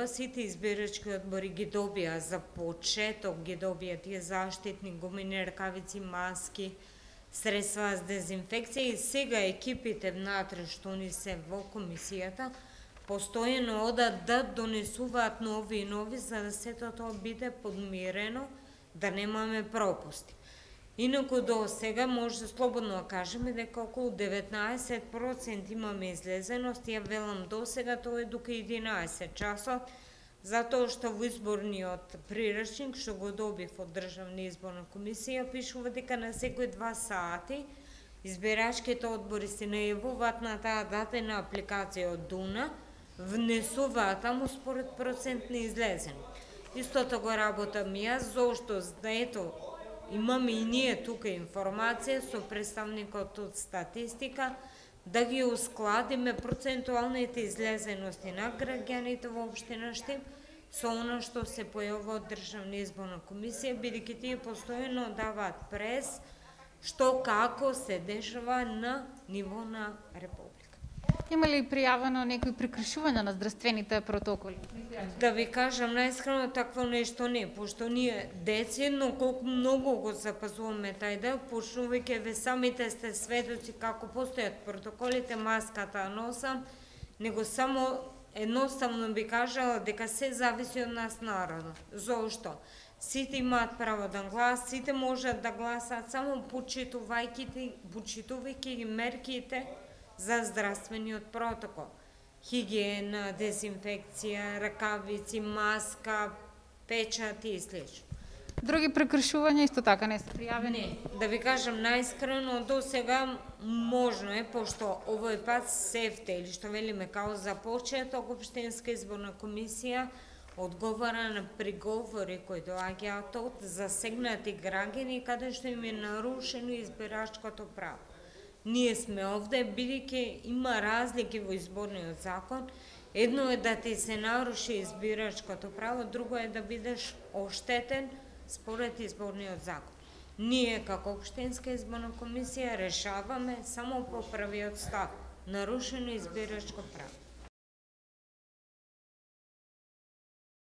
Сите избирачки одбори ги добија за почеток, ги добија тие заштитни гумени ракавици, маски, средства за дезинфекција и сега екипите внатре што ни се во комисијата постојано одат да донесуваат нови и нови за да сето тоа биде подмирено, да немаме пропусти. Инаку до сега може слободно да кажеме дека околу 19% имаме излезеност, ја велам до сега тоа е дука 11 часот, затоа што во изборниот прирачник што го добив од Државна изборна комисија пишува дека на секои 2 сати избирачките одбори се најавуваат на таа дадена апликација од Дуна, внесуваат таму според процент на излезеност. Истото го работам јас, зошто ето имаме и ние тука информација со представникот од статистика да ги ускладиме процентуалните излезености на граѓаните во општина Штип со она што се појавува од Државна изборна комисија, бидејќи тие постојано даваат прес што како се дешава на ниво на република. Има ли пријавено некои прекршувања на здравствените протоколи? Да ви кажам најискрено, такво нешто не, пошто ние децидно колку многу го запазуваме тај дел, почнувајќи ве самите сте сведоци како постојат протоколите, маската носам, него само едноставно би кажала дека се зависи од нас народот. Зошто? Сите имаат право да гласат, сите можат да гласаат само почитувајќи ги мерките за здравствениот протокол. Хигиена, дезинфекција, ракавици, маска, печати и слично. Други прекршувања исто така не се пријавени? Не, да ви кажам најискрено, до сега можно е, пошто овој пат СЕФТЕ, или што велиме као за почеток, Општинска изборна комисија одговара на приговори кои доаѓаат од засегнати граѓани каде што им е нарушено избирачкото право. Ние сме овде, бидејќи има разлики во изборниот закон. Едно е да ти се наруши избирачкото право, друго е да бидеш оштетен според изборниот закон. Ние, како Општинска изборна комисија, решаваме само по првиот став, нарушено избирачко право.